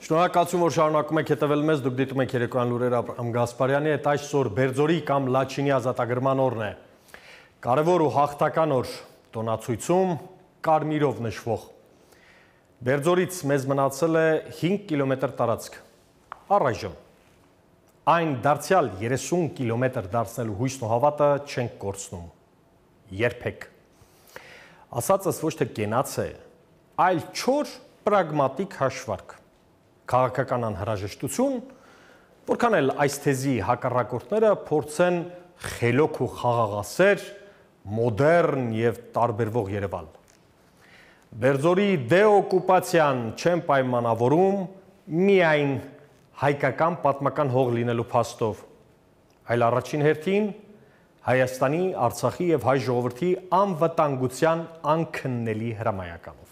Շնորհակալություն, որ շարունակում եք հետևել մեզ, դուք դիտում եք երեկոյան լուրերը Աբրահամ Գասպարյանի հետ, այսօր Բերձորի կամ Լաչինի ազատագրման օրն է։ Կարևոր ու հաղթական օր տոնացույցում կարմիրով նշվող։ Բերձորից մեզ մնացել է 5 կիլոմետր տարածք։ Առայժմ այն դարձյալ 30 կիլոմետր դարձնելու հույսն ու հավատը չենք կորցնում։ Երբեք։ Ասածս ոչ թե կենաց է, այլ չոր պրագմատիկ հաշվարկ։ Քաղաքական անհրաժեշտություն, որքան էլ այս թեզի հակառակորդները փորձեն խելոք ու խաղաղասեր, մոդեռն եւ տարբերվող Երևան։ Բերձորի դեօկուպացիան չեն պայմանավորում միայն հայկական պատմական հող լինելու փաստով, այլ առաջին հերթին Հայաստանի, Արցախի եւ հայ ժողովրդի անվտանգության անքննելի հրամայականով։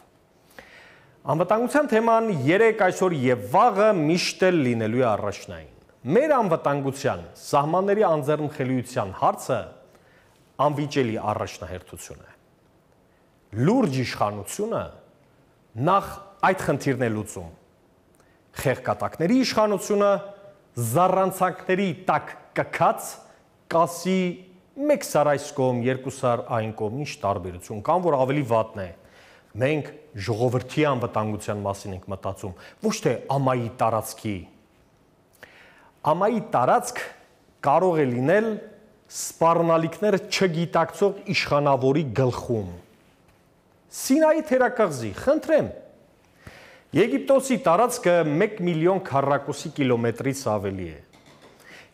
Անվտանգության թեման երեք այսօր եւ վաղը միշտ էլ լինելու է առաջնային։ Մեր անվտանգության, սահմանների անձեռնխելիության հարցը անվիճելի առաջնահերթություն է։ Լուրջ իշխանությունը նախ այդ խնդիրն է լուծում։ Խեղկատակների իշխանությունը զառանցանքների տակ կքած կասի մեկ սար այս կողմ, երկու սար այն կողմ, ինչ տարբերություն կան, որ ավելի վատն է։ Մենք ժողովրդի անվտանգության մասին ենք մտածում, ոչ թե ամայի տարածքի։ Ամայի տարածք կարող է լինել սպառնալիքները չգիտակցող իշխանավորի գլխում։ Սինայի թերակղզի, խնդրեմ։ Եգիպտոսի տարածքը 1 միլիոն քառակուսի կիլոմետրից ավելի է։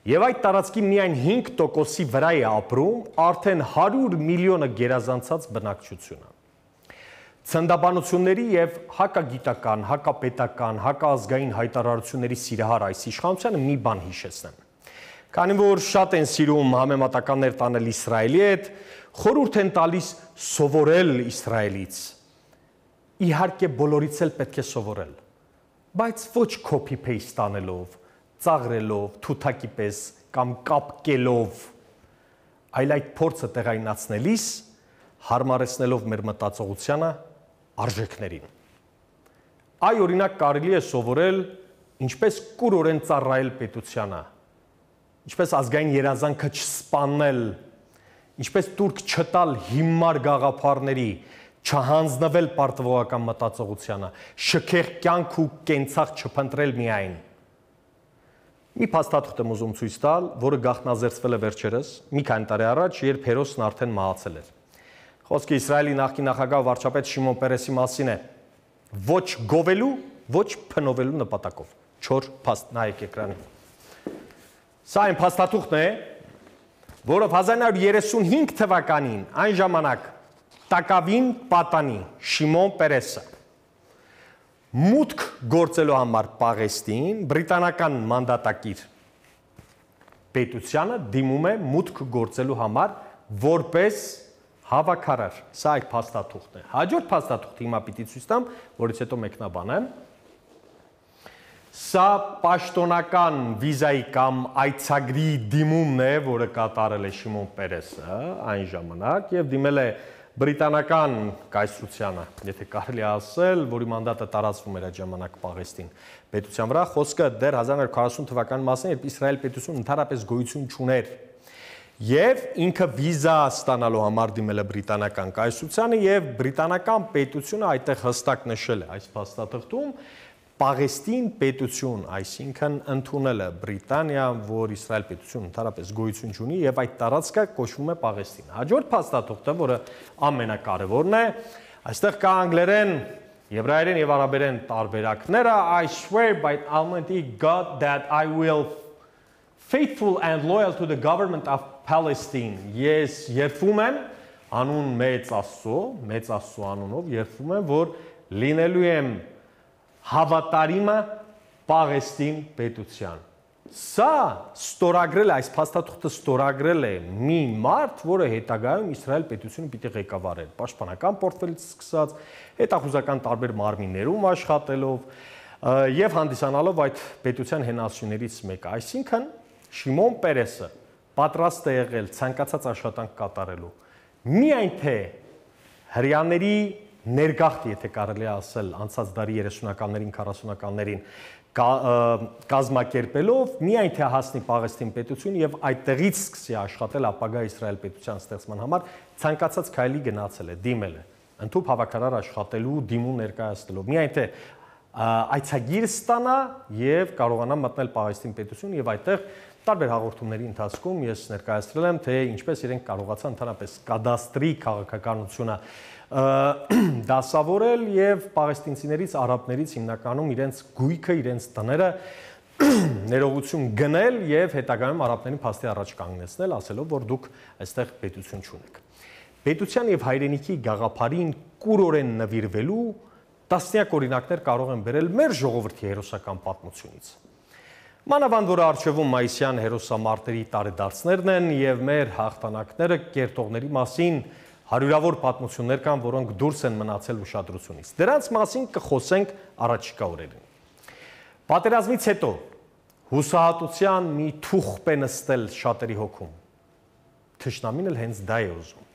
Եվ այդ տարածքի միայն 5%-ի վրա է ապրում արդեն 100 միլիոնը գերազանցած բնակչությունը։ Ցնդաբանությունների եւ հակագիտական, հակապետական, հակազգային հայտարարությունների սիրահար այս իշխանությանը մի բան հիշեցնեմ։ Քանի որ շատ են սիրում համեմատականներ տանել Իսրայելի հետ, խորհուրդ են տալիս սովորել Իսրայելից։ Իհարկե բոլորից էլ պետք է սովորել, բայց ոչ copy-paste անելով, ծաղրելով, թութակի պես կամ կապկելով, այլ այդ փորձը տեղայնացնելիս հարմարեցնելով մեր մտածողությանը արժեքներին։ Այ օրինակ կարելի է սովորել ինչպես կուրորեն ծառայել պետությանը, ինչպես ազգային երազանքը չսպանել, ինչպես տուրք չտալ հիմար գաղափարների, չհանձնվել պարտվողական մտածողությանը, շքեղ կյանք ու կենցաղ չփնտրել միայն։ Մի փաստաթուղթ եմ ուզում ցույց տալ, որը գաղտնազերծվել է վերջերս, մի քանի տարի առաջ, երբ հերոսն արդեն մահացել էր։ Խոսքը Իսրայելի նախկին նախագահ վարչապետ Շիմոն Պերեսի մասին է, ոչ գովելու, ոչ փնովելու նպատակով։ Չոր փաստ, նայեք էկրանին։ Սա այն փաստաթուղթն է, որով 1935 թվականին այն ժամանակ տակավին պատանի Շիմոն Պերեսը մուտք գործելու համար Պաղեստին բրիտանական մանդատակիր պետությանը դիմում է մուտք գործելու համար որպես հավաքարար։ Սա այդ փաստաթուղթն է։ Հաջորդ փաստաթուղթը հիմա պիտի ցույց տամ, որից հետո մեկնաբանեմ։ Սա պաշտոնական վիզայի կամ այցագրի դիմումն է, որը կատարել է Շիմոն Պերեսը այն ժամանակ եւ դիմել է բրիտանական կայսրությանը, եթե կարելի ասել, որի մանդատը տարածվում էր այդ ժամանակ Պաղեստին պետության վրա, խոսքը դեռ 1940 թվականի մասին, երբ Իսրայել պետությունը ընդհանրապես գոյություն չուներ։ Եվ ինքը վիզա ստանալու համար դիմել է բրիտանական կայսրությանը եւ բրիտանական պետությունը այդտեղ հստակ նշել է այս փաստաթղթում Պաղեստին պետություն, այսինքն ընդունել է Բրիտանիա, որ Իսրայել պետություն ընդհանրապես գոյություն չունի եւ այդ տարածքը կոչվում է Պաղեստին։ Հաջորդ փաստաթուղթը, որը ամենակարևորն է, այստեղ կա անգլերեն, եբրայերեն եւ արաբերեն տարբերակները, I swear by Almighty God that I will faithful and loyal to the government of Palestine. Ես երդվում եմ անուն մեծ Աստծո անունով երդվում եմ, որ լինելու եմ հավատարիմը Պաղեստին պետության։ Սա ստորագրել է, այս փաստաթուղթը ստորագրել է մի մարդ, որը հետագայում Իսրայել պետությունը պիտի ղեկավարեր, պաշտպանական պորտֆելից սկսած, հետախուզական տարբեր մարմիններում աշխատելով եւ հանդիսանալով այդ պետության հենասյուներից մեկը։ Այսինքն Շիմոն Պերեսը պատրաստ է եղել ցանկացած աշխատանք կատարելու։ Միայն թե հрьяաների ներգաղթ, եթե կարելի է ասել, անցած դարի 30-ականներին, 40-ականներին կազմակերպելով միայն թե հասնի Պաղեստին պետություն եւ այդտեղից սկսի աշխատել ապագա Իսրայել պետության ստեղծման համար, ցանկացած քայլի գնացել է, դիմել է, ընդհանուր հավաքարար աշխատելու դիմում ներկայացնելով, միայն թե այցագիր ստանա եւ կարողանա մտնել Պաղեստին պետություն եւ այդտեղ տարբեր հաղորդումների ընթացքում ես ներկայացրել եմ, թե ինչպես իրենք կարողացան ընդհանրապես կադաստրի քաղաքականությունը դասավորել եւ պաղեստինցիներից, արաբներից հիմնականում իրենց գույքը, իրենց տները ներողություն գնել եւ հետագայում արաբներին փաստի առաջ կանգնեցնել, ասելով, որ դուք այստեղ պետություն չունեք։ Պետության եւ հայրենիքի գաղափարին կուրորեն նվիրվելու տասնյակ օրինակներ կարող են բերել մեր ժողովրդի հերոսական պատմությունից։ Մանավանդ որ արժևում մայիսյան հերոսամարտերի տարեդարձներն են եւ մեր հաղթանակները կերտողների մասին հարյուրավոր պատմություններ կան, որոնք դուրս են մնացել ուշադրությունից։ Դրանց մասին կխոսենք առաջիկա օրերին։ Պատերազմից հետո հուսահատության մի թուղթ է նստել շատերի հոգում։ Թշնամին էլ հենց դա է ուզում։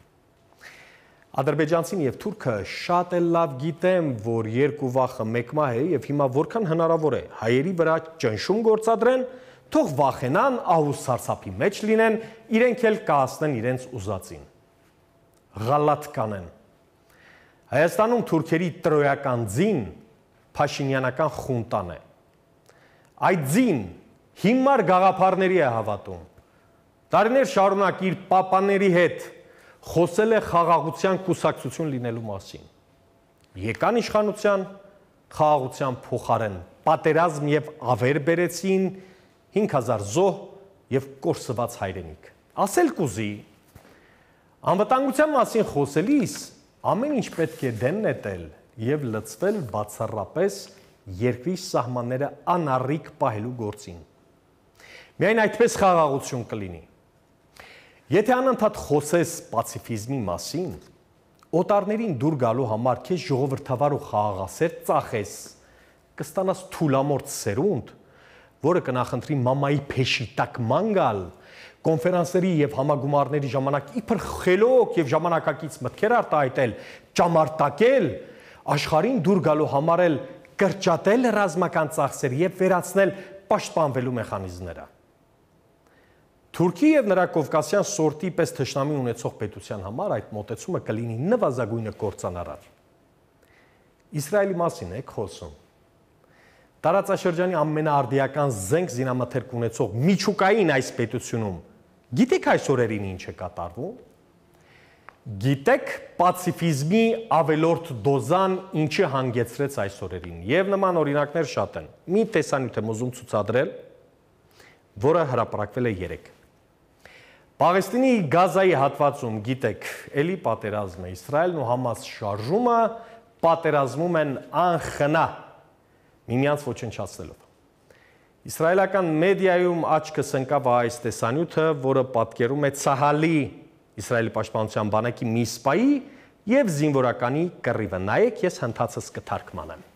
Ադրբեջանցին եւ թուրքը շատ էլ լավ գիտեն, որ երկու վախը մեկ մահ է եւ հիմա որքան հնարավոր է հայերի վրա ճնշում գործադրեն, թող վախենան, ահուս սարսափի մեջ լինեն, իրենք էլ կհասնեն իրենց ուզածին։ Ղալատ կանեն։ Հայաստանում թուրքերի տրոյական ձին փաշինյանական խունտան է։ Այդ ձին հիմար գաղափարների է հավատում։ Տարիներ շարունակ իր պապաների հետ խոսել է խաղաղության կուսակցություն լինելու մասին։ Եկան իշխանության, խաղաղության փոխարեն պատերազմ եւ ավեր բերեցին 5000 զոհ եւ կորսված հայրենիք։ Ասել կուզի, անվտանգության մասին խոսելիս ամեն ինչ պետք է դեն նետել եւ լցվել բացառապես երկրի սահմանները անառիկ պահելու գործին։ Միայն այդպես խաղաղություն կլինի։ Եթե անընդհատ խոսես պացիֆիզմի մասին, օտարներին դուր գալու համար քեզ ժողովրդավար ու խաղաղասեր ծախես, կստանաս թուլամորթ սերունդ, որը կնախընտրի մամայի փեշի տակ ման գալ, կոնֆերանսների եւ համագումարների ժամանակ իբր խելոք եւ ժամանակակից մտքեր արտահայտել, ճամարտակել, աշխարհին դուր գալու համար էլ կրճատել ռազմական ծախսեր եւ վերացնել պաշտպանվելու մեխանիզմները։ Թուրքի եւ նրա կովկասյան սորտի պես թշնամի ունեցող պետության համար այդ մոտեցումը կլինի նվազագույնը կործանարար։ Իսրայելի մասին եք խոսում։ Տարածաշրջանի ամենաարդիական զենք զինամթերք ունեցող միջուկային այս պետությունում գիտեք այս օրերին ինչ է կատարվում։ Գիտեք պացիֆիզմի ավելորդ դոզան ինչի հանգեցրեց այս օրերին եւ նման օրինակներ շատ են։ Մի տեսանյութ եմ ուզում ցուցադրել, որը հրապարակվել է 3։ Պաղեստինի Գազայի հատվածում գիտեք, էլի պատերազմ է, Իսրայելն ու Համաս շարժումը պատերազմում են անխնա, միմյանց ոչնչացնելով։ Իսրայելական մեդիայում աչքս ընկավ այս տեսանյութը, որը պատկերում է Ցահալի, Իսրայելի պաշտպանության բանակի մի սպայի եւ զինվորականի կռիվը։ Նայեք, ես հնդածս կթարգմանեմ։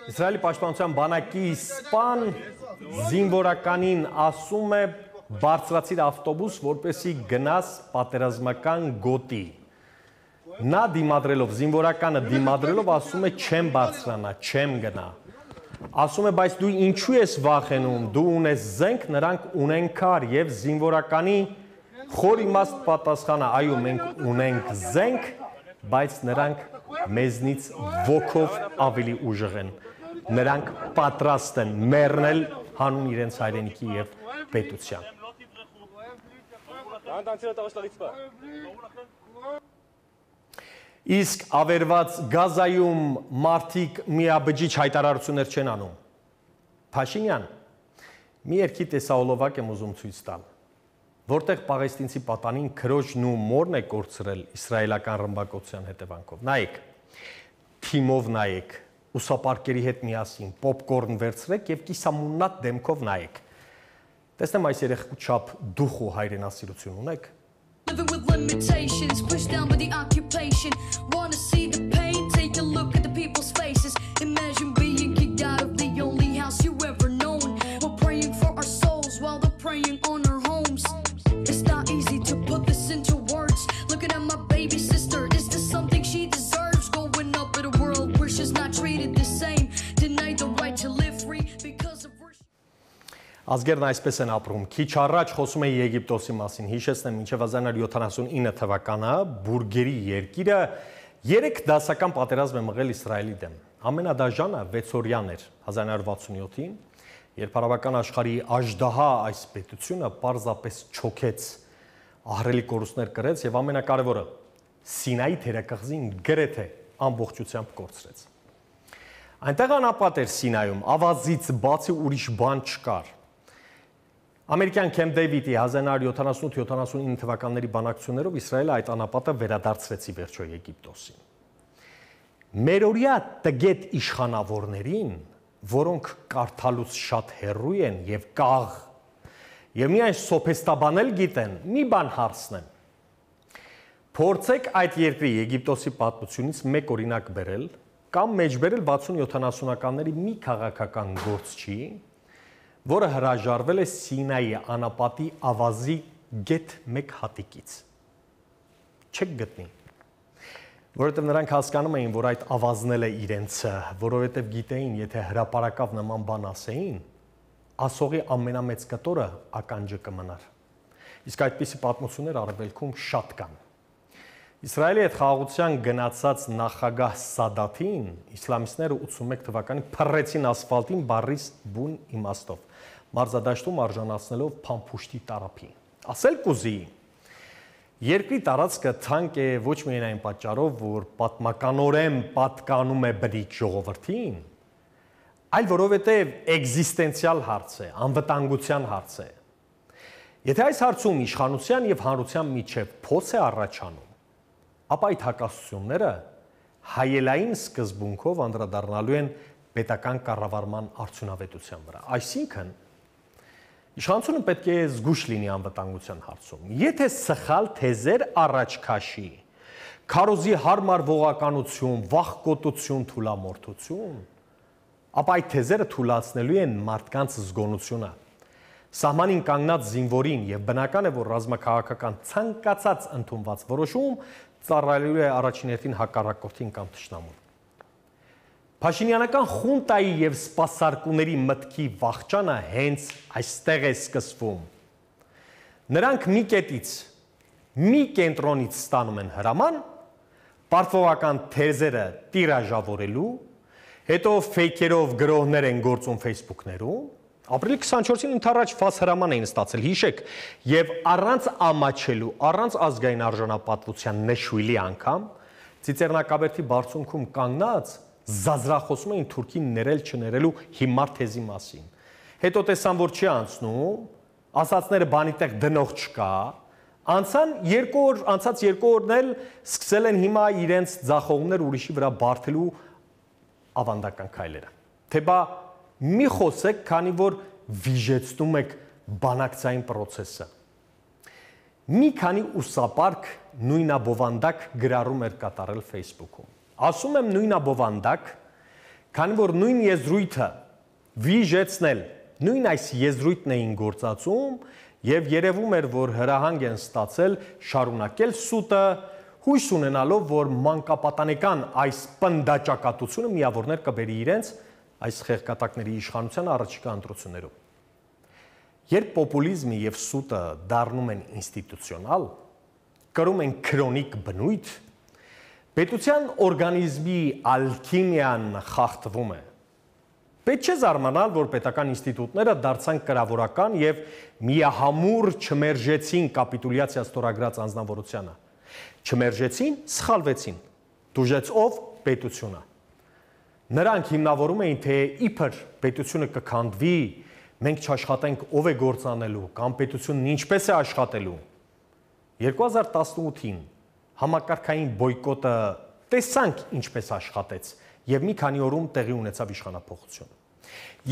Իսրայելի պաշտպանության բանակի սպան զինվորականին ասում է բարձրացիր ավտոբուս, որպեսի գնաս պատերազմական գոտի։ Նա դիմադրելով, զինվորականը դիմադրելով ասում է չեմ բարձրանա, չեմ գնա։ Ասում է, բայց դու ինչու ես վախենում, դու ունես զենք, նրանք ունեն քար եւ զինվորականի խոր իմաստ պատասխանը, այո, մենք ունենք զենք, բայց նրանք մեզնից ոգով ավելի ուժեղ են։ Նրանք պատրաստ են մեռնել հանուն իրենց հայրենիքի եւ պետության։ Իսկ ավերված Գազայում մարդիկ միաբջիջ հայտարարություններ չեն անում։ Փաշինյան, մի երկի տեսահոլովակ եմ ուզում ցույց տալ, որտեղ պաղեստինցի պատանին քրոջն ու մորն է կորցրել իսրայելական ռմբակոծության հետևանքով։ Նայեք, թիմով նայեք, ուսապարկերի հետ միասին, պոպկորն վերցրեք եւ կիսամուննատ դեմքով նայեք։ Տեսնեմ այս երեխու չափ դուխ ու հայրենասիրություն ունեք։ Living with limitations, pushed down by the occupation. Wanna see the pain, take a look at the people's faces. Imagine being kicked out of the only house you ever known. We're praying for our souls while they're preying on our homes. It's not easy to put this into words. Looking at my baby sister is Ազգերն այսպես են ապրում։ Քիչ առաջ խոսում էի Եգիպտոսի մասին, հիշեցնեմ, մինչև 1979 թվականը բուրգերի երկիրը 3 դասական պատերազմ է մղել Իսրայելի դեմ։ Ամենադաժանը 6-օրյան էր 1967-ին, երբ արաբական աշխարհի աժդահա այս պետությունը պարզապես չոքեց, ահռելի կորուստներ կրեց եւ ամենակարևորը Սինայի թերակղզին գրեթե ամբողջությամբ կորցրեց։ Այնտեղ անապատ էր Սինայում, ավազից բացի ուրիշ բան չկար։ Ամերիկյան Քեմփ Դեյվիդի 1978-79 թվականների բանակցություններով Իսրայելը այդ անապատը վերադարձրեց ի վերջո Եգիպտոսին։ Մերօրյա տգետ իշխանավորներին, որոնք կարդալուց շատ հեռու են եւ կաղ, եւ միայն սոփեստաբանել գիտեն, մի բան հարցնեմ։ Փորձեք այդ երկրի Եգիպտոսի պատմությունից մեկ օրինակ բերել կամ մեջբերել 60-70-ականների մի քաղաքական գործչի, որը հրաժարվել է Սինայի անապատի ավազի գեթ մեկ հատիկից։ Չեք գտնի։ Որովհետև նրանք հասկանում էին, որ այդ ավազն է իրենցը, որովհետև գիտեին, եթե հրապարակավ նման բան ասեին, ասողի ամենամեծ կտորը ականջը կմնար։ Իսկ այդպիսի պատմություններ արևելքում շատ կան։ Իսրայելի հետ խաղաղության գնացած նախագահ Սադաթին իսլամիստները 81 թվականին փռեցին ասֆալտին բառիս բուն իմաստով, մարզադաշտում արժանացնելով փամփուշտի տարափին։ Ասել կուզի, երկրի տարածքը թանկ է ոչ միայն այն պատճառով, որ պատմականորեն պատկանում է բնիկ ժողովրդին, այլ որովհետև էգզիստենցիալ հարց է, անվտանգության հարց է։ Եթե այս հարցում իշխանության եւ հանրության միջև փոս է առաջանում, ապա այդ հակասությունները հայելային սկզբունքով անդրադառնալու են պետական կառավարման արդյունավետության վրա։ Այսինքն, իշխանությունը պետք է զգույշ լինի անվտանգության հարցում։ Եթե սխալ թեզեր առաջ քաշի, քարոզի հարմար ողականություն, վախկոտություն, թուլամորթություն, ապա այդ թեզերը թուլացնելու են մարդկանց զգոնությունը։ Սահմանին կանգնած զինվորին եւ բնական է, որ ռազմաքաղաքական ցանկացած ընդունված որոշում ծառայելու է առաջին հերթին հակառակորդին կամ թշնամուն։ Փաշինյանական խունտայի եւ սպասարկուների մտքի վախճանը հենց այստեղ է սկսվում։ Նրանք մի կետից, մի կենտրոնից ստանում են հրաման, պարտվողական թեզերը տիրաժավորելու, հետո ֆեյքերով գրողներ են գործում Facebook-ներում, ապրիլի 24-ին ընդառաջ ֆաս հրաման էին ստացել, հիշեք, եւ առանց ամաչելու, առանց ազգային արժանապատվության նշույլի անգամ Ծիծեռնակաբերդի բարձունքում կանգնած զազրախոսում էին Թուրքին ներել չներելու հիմար թեզի մասին։ Հետո տեսան, որ չի անցնում, ասածները բանի տեղ դնող չկա, անցած 2 օրն էլ սկսել են հիմա իրենց ձախողումներ ուրիշի վրա բարթելու ավանդական քայլերը։ Թե բա մի խոսեք, քանի որ վիժեցնում եք բանակցային պրոցեսը։ Մի քանի ուսապարկ նույնաբովանդակ գրառում էր կատարել Facebook-ում։ Ասում եմ նույնաբովանդակ, քանի որ նույն եզրույթը վիժեցնել, նույն այս եզրույթն էին գործածում եւ երևում էր, որ հրահանգ են ստացել շարունակել սուտը, հույս ունենալով, որ մանկապատանեկան այս պնդաճակատությունը միավորներ կբերի իրենց այս խեղկատակների իշխանության առաջիկա ընտրություններում։ Երբ պոպուլիզմը եւ սուտը դառնում են ինստիտուցիոնալ, կրում են քրոնիկ բնույթ, պետության օրգանիզմի ալքիմիան խախտվում է։ Պետք չէ զարմանալ, որ պետական ինստիտուտները դարձան կրավորական եւ միահամուռ չմերժեցին կապիտուլյացիա ստորագրած անձնավորությանը։ Չմերժեցին, սխալվեցին։ Դուժեց ով պետությունը։ Նրանք հիմնավորում էին, թե իբր պետությունը կքանդվի, մենք չաշխատենք ով է գործանելու, կամ պետությունն ինչպես է աշխատելու։ 2018-ին համակարգային բոյկոտը տեսանք ինչպես աշխատեց եւ մի քանի օրում տեղի ունեցավ իշխանափոխություն։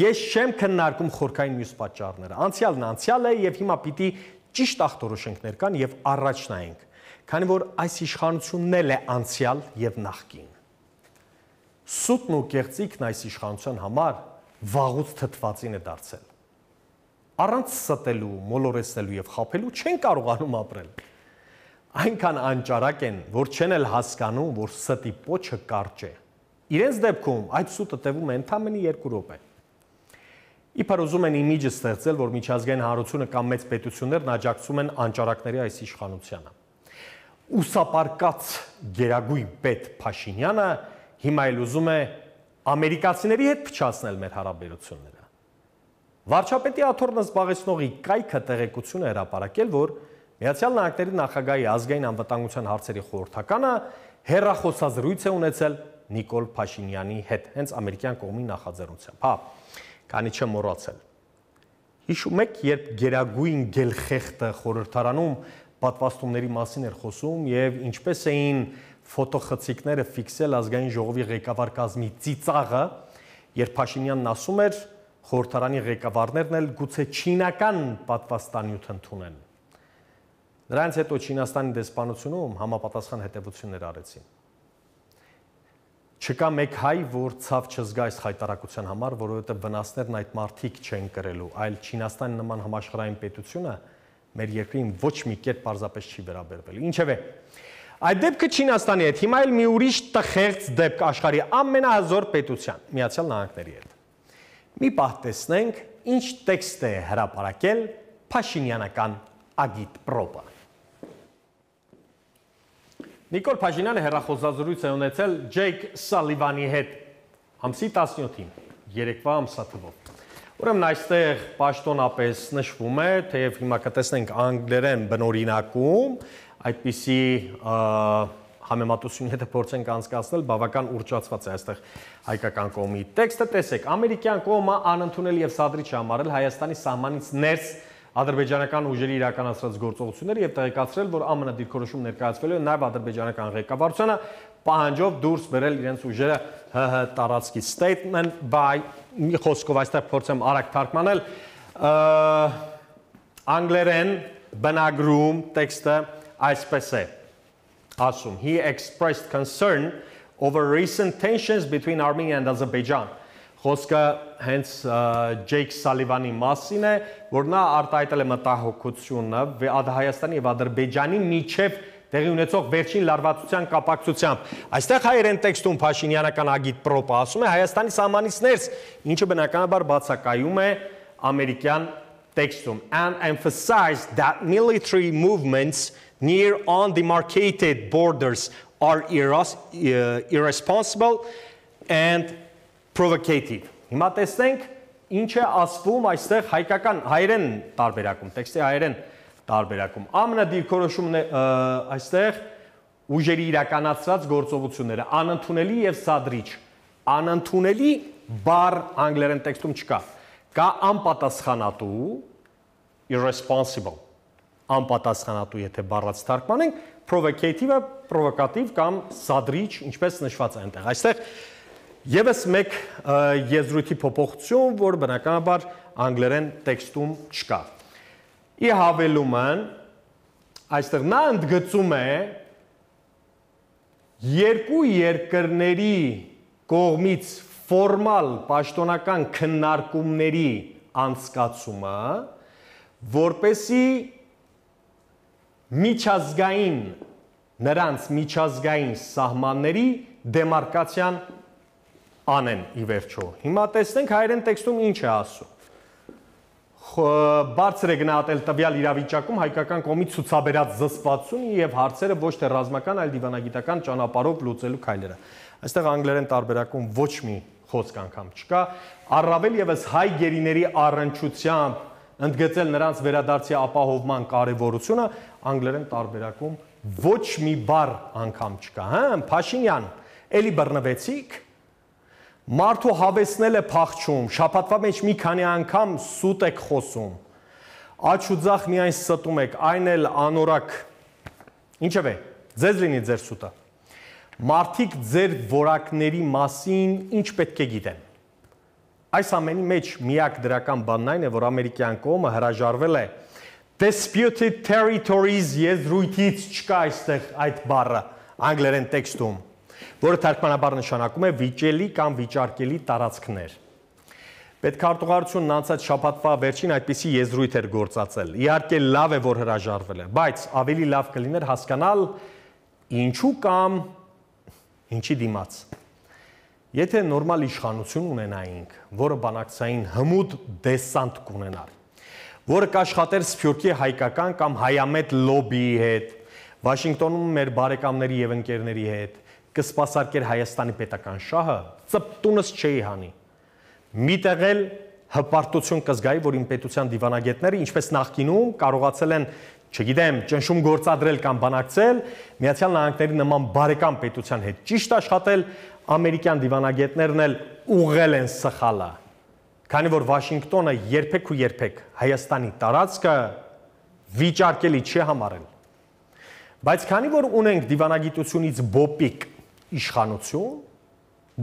Ես չեմ քննարկում խորքային մյուս պատճառները։ Անցյալն անցյալ է եւ հիմա պիտի ճիշտ ախտորոշենք ներկան եւ առաջ նայենք, քանի որ այս իշխանությունն էլ է անցյալ եւ նախկին։ Սուտն ու կեղծիքն այս իշխանության համար վաղուց թթվածին է դարձել։ Առանց ստելու, մոլորեսելու եւ խաբելու չեն կարողանում ապրել։ Այնքան անճարակ են, որ չեն էլ հասկանում, որ ստի պոչը կարճ է։ Իրենց դեպքում այդ սուտը տևում է ընդամենը 2 րոպե։ Իբր ուզում են իմիջը ստեղծել, որ միջազգային հանրությունը կամ մեծ պետություններն աջակցում են անճարակների այս իշխանությանը։ Ուսապարկած գերագույն պետ Փաշինյանը հիմա էլ ուզում է ամերիկացիների հետ փչացնել մեր հարաբերությունները։ Վարչապետի աթոռն զբաղեցնողի կայքը տեղեկություն է հրապարակել, որ Միացյալ Նահանգների նախագահի ազգային անվտանգության հարցերի խորհրդականը հեռախոսազրույց է ունեցել Նիկոլ Փաշինյանի հետ, հենց ամերիկյան կողմի նախաձեռնությամբ։ Հա, քանի չեմ մոռացել։ Հիշում եք, երբ գերագույն գելխեղտը խորհրդարանում պատվաստումների մասին էր խոսում եւ ինչպես էին ֆոտոխցիկները ֆիքսել ազգային ժողովի ղեկավար կազմի ծիծաղը, երբ Փաշինյանն ասում էր, խորհրդարանի ղեկավարներն էլ գուցե չինական պատվաստանյութ ընդունեն։ Նրանց հետո Չինաստանի դեսպանությունում համապատասխան հետևություններ արեցին։ Չկա մեկ հայ, որ ցավ չզգա այս հայտարարության համար, որովհետև վնասներն այդ մարդիկ չեն կրելու, այլ Չինաստանի նման համաշխարհային պետությունը մեր երկրին ոչ մի կերպ պարզապես չի վերաբերվել։ Ինչևէ, այդ դեպքը Չինաստանի հետ, հիմա էլ մի ուրիշ տխեղծ դեպք աշխարհի ամենահզոր պետության, Միացյալ Նահանգների հետ։ Մի պահ տեսնենք, ինչ տեքստ է հրապարակել Փաշինյանական ագիտպրոպը։ Նիկոլ Փաշինյանը հեռախոսազրույց է ունեցել Ջեյք Սալիվանի հետ ամսի 17-ին, երեկվա ամսաթվով։ Ուրեմն այստեղ պաշտոնապես նշվում է, թեև հիմա կտեսնենք անգլերեն բնօրինակում, այդպիսի համեմատություն եթե փորձենք անցկացնել, բավական ուռճացված է այստեղ հայկական կողմի տեքստը, տեսեք, ամերիկյան կողմը անընդունել եւ սադրիչ համարել Հայաստանի սահմանից ներս ադրբեջանական ուժերի իրականացրած գործողությունները եւ տեղեկացրել, որ ԱՄՆ դիրքորոշում ներկայացվելու է նաեւ ադրբեջանական ղեկավարությունը պահանջով դուրս բերել իրենց ուժերը ՀՀ տարածքի statement by մի խոսքով այստեղ փորձեմ արագ թարգմանել անգլերեն բնագրում տեքստը այսպես է ասում he expressed concern over recent tensions between Armenia and Azerbaijan Խոսքը հենց Ջեյք Սալիվանի մասին է, որ նա արտահայտել է մտահոգությունը Հայաստանի եւ Ադրբեջանի միջև տեղի ունեցող վերջին լարվածության կապակցությամբ։ Այստեղ հայերեն տեքստում Փաշինյանական ագիտպրոպը ասում է Հայաստանի սահմանից ներս, ինչը բնականաբար բացակայում է ամերիկյան տեքստում and emphasized that military movements near undemarcated borders are irresponsible and provocative. Հիմա տեսնենք ինչ է ասվում այստեղ հայկական հայերեն տարբերակում, տեքստի հայերեն տարբերակում։ ԱՄՆ դիրքորոշումն է այստեղ ուժերի իրականացրած գործողությունները անընդունելի եւ սադրիչ։ Անընդունելի բառ անգլերեն տեքստում չկա։ Կա անպատասխանատու irresponsible։ Անպատասխանատու եթե բառած թարգմանենք, provocative-ը provocative կամ սադրիչ, ինչպես նշված է այնտեղ։ Այստեղ Եվս մեկ եզրույթի փոփոխություն, որ բնականաբար անգլերեն տեքստում չկա։ Ի հավելումն, այստեղ նա ընդգծում է երկու երկրների կողմից ֆորմալ պաշտոնական քննարկումների անցկացումը, որպեսզի միջազգային նրանց միջազգային սահմանների դեմարկացիան անեն ի վերջո։ Հիմա տեսնենք հայերեն տեքստում ինչ է ասում։ Բարձր է գնահատել տվյալ իրավիճակում հայկական կողմի ցուցաբերած զսպվածությունը եւ հարցերը ոչ թե ռազմական, այլ դիվանագիտական ճանապարհով լուծելու քայլերը։ Այստեղ անգլերեն տարբերակում ոչ մի խոսք անգամ չկա։ Առավել եւս հայ գերիների առնչությամբ ընդգծել նրանց վերադարձի ապահովման կարեւորությունը անգլերեն տարբերակում ոչ մի բառ անգամ չկա, հա, Փաշինյան, էլի բռնվեցիք Մարդու հավեսնել է փախչում, շաբաթվա մեջ մի քանի անգամ սուտ եք խոսում, աչ ու ձախ միայն ստում եք, այն էլ անորակ, ինչևէ, ձեզ լինի ձեր սուտը, մարդիկ ձեր որակների մասին ինչ պետք է գիտեն, այս ամենի մեջ միակ դրական բանն այն է, որ ամերիկյան կողմը հրաժարվել է, disputed territories եզրույթից չկա այստեղ այդ բառը, անգլերեն տեքստում, որը թարգմանաբար նշանակում է վիճելի կամ վիճարկելի տարածքներ։ Պետքարտուղարությունն անցած շաբաթվա վերջին այդպիսի եզրույթ էր գործածել։ Իհարկե լավ է, որ հրաժարվել է, բայց ավելի լավ կլիներ հասկանալ ինչու կամ ինչի դիմաց։ Եթե նորմալ իշխանություն ունենայինք, որը բանակցային հմուտ դեսանտ կունենար, որը կաշխատեր Սփյուռքի հայկական կամ հայամետ լոբիի հետ, Վաշինգտոնում մեր բարեկամների եւ ընկերների հետ, կսպասարկեր Հայաստանի պետական շահը, ծպտունս չէի հանի։ Միտեղ էլ հպարտություն կզգայի, որ իմ պետության դիվանագետները, ինչպես նախկինում, կարողացել են, չգիտեմ, ճնշում գործադրել կամ բանակցել, Միացյալ Նահանգների նման բարեկամ պետության հետ ճիշտ աշխատել, ամերիկյան դիվանագետներն էլ ուղղել են սխալը, քանի որ Վաշինգտոնը երբեք ու երբեք Հայաստանի տարածքը վիճարկելի չի համարել։ Բայց քանի որ ունենք դիվանագիտությունից բոպիկ իշխանություն,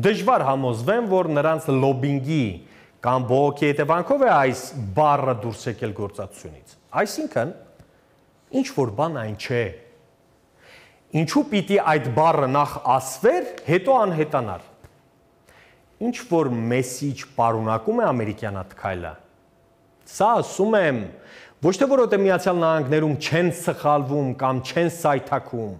դժվար համոզվեմ, որ նրանց լոբինգի կամ բողոքի հետևանքով է այս բառը դուրս եկել գործածությունից։ Այսինքն, ինչ որ բան այն չէ։ Ինչու պիտի այդ բառը նախ ասվեր, հետո անհետանար։ Ինչ որ մեսիջ պարունակում է ամերիկյան այդ քայլը։ Սա ասում եմ, ոչ թե որովհետև Միացյալ Նահանգներում չեն սխալվում կամ չեն սայթաքում,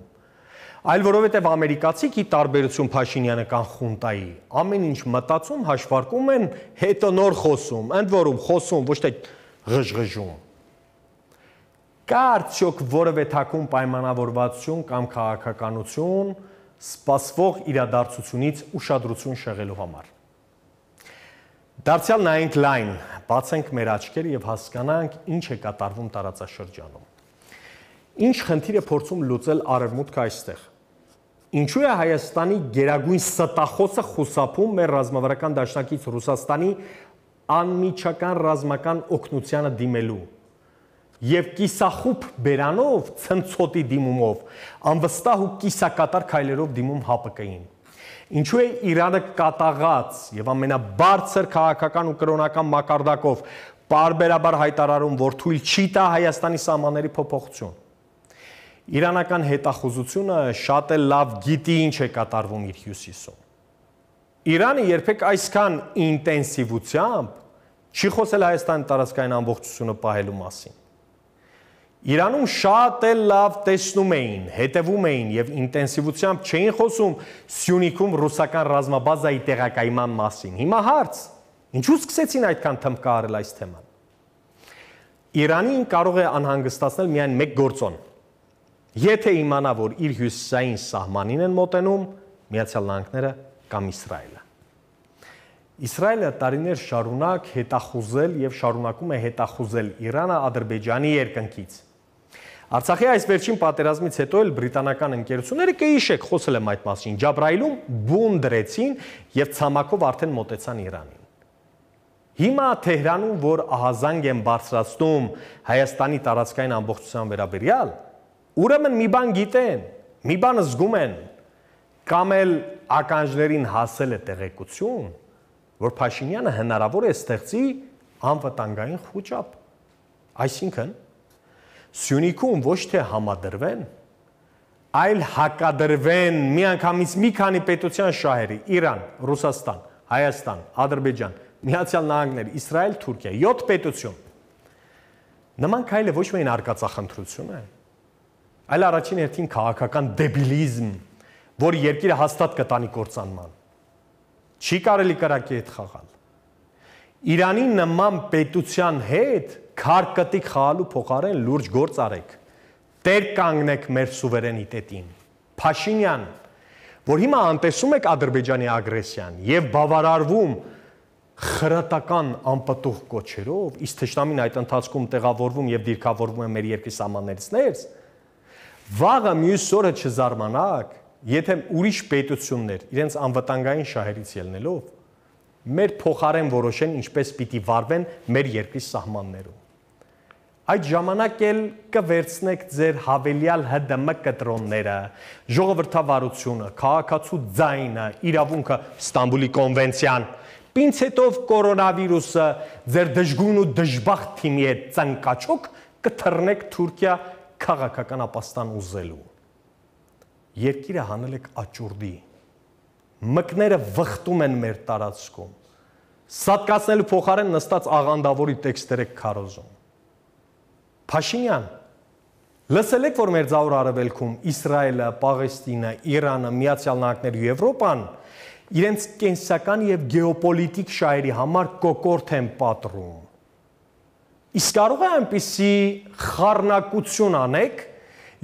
այլ որովհետև ամերիկացիք ի տարբերություն Փաշինյանը կամ խունտայի, ամեն ինչ մտածում, հաշվարկում են, հետո նոր խոսում, ընդ որում խոսում, ոչ թե ղժղժում։ Կա արդյոք որևէ թաքուն պայմանավորվածություն կամ քաղաքականություն սպասվող իրադարձությունից ուշադրություն շեղելու համար։ Դարձյալ նայենք լայն, բացենք մեր աչքերը եւ հասկանանք ինչ է կատարվում տարածաշրջանում։ Ինչ խնդիր է փորձում լուծել Արևմուտքը այստեղ։ Ինչու է Հայաստանի գերագույն ստախոսը խուսափում մեր ռազմավարական դաշնակից Ռուսաստանի անմիջական ռազմական օգնությանը դիմելու եւ կիսախուբ բերանով, ցնցոտի դիմումով, անվստահ ու կիսակատար քայլերով դիմում ՀԱՊԿ-ին։ Ինչու է Իրանը կատաղած եւ ամենաբարձր քաղաքական ու կրոնական մակարդակով պարբերաբար հայտարարում, որ թույլ չի տա Հայաստանի սահմանների փոփոխություն։ Իրանական հետախուզությունը շատ էլ լավ գիտի ինչ է կատարվում իր հյուսիսում։ Իրանը երբեք այսքան ինտենսիվությամբ չի խոսել Հայաստանի տարածքային ամբողջությունը պահելու մասին։ Իրանում շատ էլ լավ տեսնում էին, հետևում էին եւ ինտենսիվությամբ չէին խոսում Սյունիքում ռուսական ռազմաբազայի տեղակայման մասին։ Հիմա հարց. ինչու սկսեցին այդքան թմբկահարել այս թեման։ Իրանին կարող է անհանգստացնել միայն մեկ գործոն։ Եթե իմանա, որ իր հյուսիսային սահմանին են մոտենում Միացյալ Նահանգները կամ Իսրայելը։ Իսրայելը տարիներ շարունակ հետախուզել եւ շարունակում է հետախուզել Իրանը Ադրբեջանի երկնքից։ Արցախի այս վերջին պատերազմից հետո էլ բրիտանական ընկերությունները կհիշեք, խոսել եմ այդ մասին, Ջաբրայիլում բուն դրեցին եւ ցամաքով արդեն մոտեցան Իրանին։ Հիմա Թեհրանում, որ ահազանգ են բարձրացնում Հայաստանի տարածքային ամբողջության վերաբերյալ, ուրեմն մի բան գիտեն, մի բան զգում են, կամ էլ ականջներին հասել է տեղեկություն, որ Փաշինյանը հնարավոր է ստեղծի անվտանգային խոճապ։ Այսինքն Սյունիքում ոչ թե համադրվեն, այլ հակադրվեն միանգամից մի քանի պետության շահերի՝ Իրան, Ռուսաստան, Հայաստան, Ադրբեջան, Միացյալ Նահանգներ, Իսրայել, Թուրքիա, 7 պետություն։ Նման քայլը ոչ միայն արկածախնդրություն է, այլ առաջին հերթին քաղաքական դեբիլիզմ, որ երկիրը հաստատ կտանի կործանման։ Չի կարելի կրակի հետ խաղալ։ Իրանի նման պետության հետ քարկտիկ խաղալու փոխարեն լուրջ գործ արեք։ Տեր կանգնեք մեր սուվերենիտետին։ Փաշինյան, որ հիմա անտեսում եք Ադրբեջանի ագրեսիան եւ բավարարվում խրատական անպտուղ կոչերով, իսկ թշնամին այդ ընթացքում տեղավորվում եւ դիրքավորվում է մեր երկրի սահմաններից ներս, վաղը մյուս օրը չզարմանաք, եթե ուրիշ պետություններ իրենց անվտանգային շահերից ելնելով մեր փոխարեն որոշեն ինչպես պիտի վարվեն մեր երկրի սահմաններում։ Այդ ժամանակ էլ կվերցնեք ձեր հավելյալ ՀԴՄ կտրոնները, ժողովրդավարությունը, քաղաքացու ձայնը, իրավունքը, Ստամբուլի կոնվենցիան, պինցետով կորոնավիրուսը, ձեր դժգույն ու դժբախտ թիմի հետ ծնկաչոք կթռնեք Թուրքիա քաղաքական ապաստան ուզելու։ Երկիրը հանել եք աճուրդի։ Մկները վխտում են մեր տարածքում։ Սատկացնելու փոխարեն նստած աղանդավորի տեքստեր եք քարոզում։ Փաշինյան, լսել եք, որ Մերձավոր Արևելքում Իսրայելը, Պաղեստինը, Իրանը, Միացյալ Նահանգները ու Եվրոպան իրենց կենսական եւ գեոպոլիտիկ շահերի համար կոկորդ են պատռում։ Իսկ կարող է այնպիսի խառնակություն անեք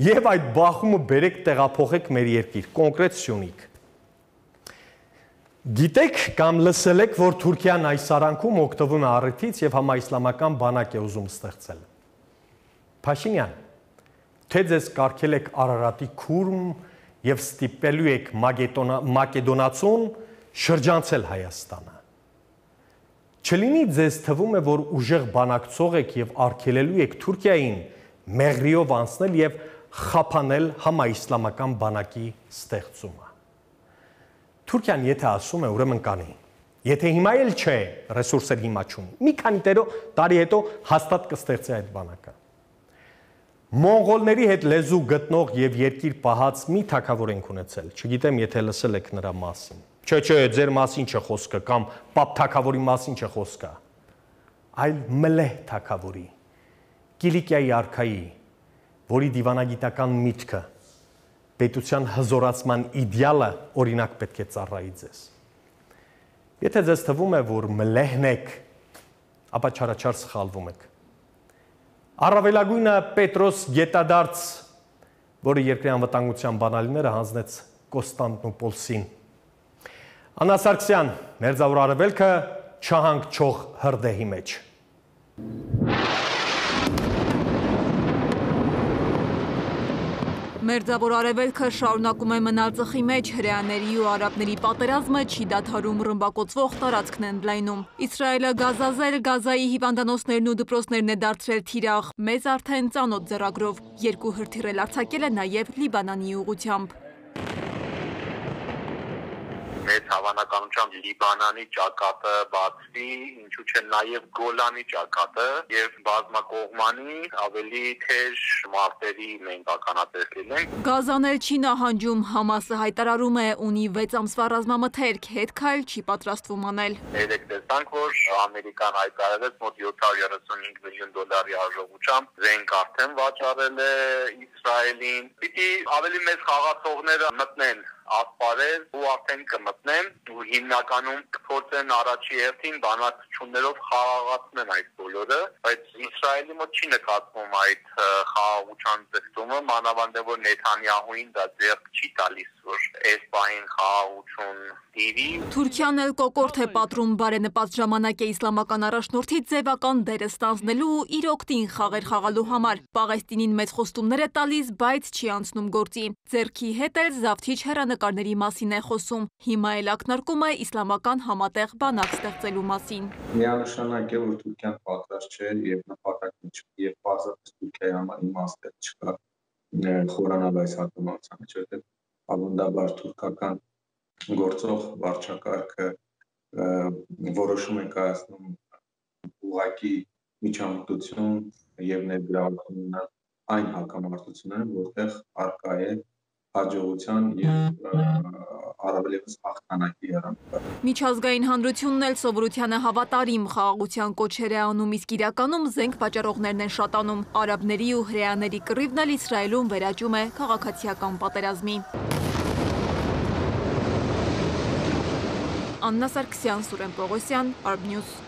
եւ այդ բախումը բերեք տեղափոխեք մեր երկիր, կոնկրետ Սյունիք։ Գիտեք կամ լսել եք, որ Թուրքիան այս արանքում օգտվում է առիթից եւ համաիսլամական բանակ է ուզում ստեղծել։ Փաշինյան, թե ձեզ կարգել եք Արարատի քուրմ եւ ստիպելու եք Մակեդոնացուն շրջանցել Հայաստանը։ Չլինի ձեզ թվում է, որ ուժեղ բանակցող եք եւ արգելելու եք Թուրքիային մեղրիով անցնել եւ խափանել համաիսլամական բանակի ստեղծումը։ Թուրքիան եթե ասում է, ուրեմն կանի։ Եթե հիմա էլ չէ, ռեսուրսեր հիմա չունի։ Մի քանի տարի հետո հաստատ կստեղծի այդ բանակը։ Մոնղոլների հետ լեզու գտնող եւ երկիր պահած մի թագավոր ենք ունեցել։ Չգիտեմ, եթե լսել եք նրա մասին։ Չէ, ձեր մասին չէ խոսքը կամ պապ թագավորի մասին չէ խոսքը, այլ Մլեհ թագավորի, Կիլիկիայի արքայի, որի դիվանագիտական միտքը, պետության հզորացման իդեալը օրինակ պետք է ծառայի ձեզ։ Եթե ձեզ թվում է, որ Մլեհն եք, ապա չարաչար սխալվում եք։ Առավելագույնը Պետրոս Գետադարձ, որը երկրի անվտանգության բանալիները հանձնեց Կոստանդնուպոլսին։ Աննա Սարգսյան, Մերձավոր Արևելքը չհանգչող հրդեհի մեջ։ Մերձավոր Արևելքը շարունակում է մնալ ծխի մեջ, հրեաների ու արաբների պատերազմը չի դադարում, ռմբակոծվող տարածքն են ընդլայնում։ Իսրայելը գազազել, Գազայի հիվանդանոցներն ու դպրոցներն է դարձրել թիրախ, մեզ արդեն ծանոթ ձեռագրով, 2 հրթիռ էլ արձակել է նաև Լիբանանի ուղղությամբ։ Մեծ հավանականությամբ Լիբանանի ճակատը բացվի, ինչու չէ նաև Գոլանի ճակատը եւ բազմակողմանի ավելի թեժ մարտերի մենք ականատես լինենք։ Գազան էլ չի նահանջում, Համասը հայտարարում է, ունի 6 ամսվա ռազմամթերք, հետ քայլ չի պատրաստվում անել։ Երեք տեսանք, որ Ամերիկան հայտարարեց մոտ $735 միլիոն արժողությամբ զենք արդեն վաճառել է Իսրայելին։ Պիտի ավելի մեծ խաղացողները մտնեն ասպարեզ ու արդեն կմտնեն ու հիմնականում կփորձեն առաջի հերթին բանակցություններով խաղաղացնել այդ բոլորը, բայց Իսրայելի մոտ չի նկատվում այդ խաղաղության ձգտումը, մանավանդ որ Նեթանյահուին դա ձեռք չի տալիս, որ այս պահին խաղաղություն տիրի։ Թուրքիան էլ կոկորդ է պատռում, բարենպաստ ժամանակ է իսլամական առաջնորդի ձևական դերը ստանձնելու ու իր օգտին խաղեր խաղալու համար։ Պաղեստինին մեծ խոստումներ է տալիս, բայց չի անցնում գործի։ Ձեռքի հետ էլ զավթիչ հեռանկարների մասին է խոսում։ Հիմա էլ ակնարկում է իսլամական համատեղ բանակ ստեղծելու մասին։ Միանշանակ է, որ Թուրքիան պատրաստ չէ եւ նպատակն չի, եւ բացառապես Թուրքիայի համար իմաստ չկա խորանալ այս հակամարտությանը, որովհետեւ ավանդաբար թուրքական գործող վարչակարգը որոշում է կայացնում ուղղակի միջամտություն եւ ներգրավություն այն հակամարտությունները, որտեղ առկա է հաջողության եւ առավելևս հաղթանակի հեռանկար։ Միջազգային հանրությունն էլ սովորությանը հավատարիմ խաղաղության կոչեր է անում, իսկ իրականում զենք վաճառողներն են շատանում։ Արաբների ու հրեաների կռիվն էլ Իսրայելում վերաճում է քաղաքացիական պատերազմի։ Աննա Սարգսյան, Սուրեն Պողոսյան, Arab News։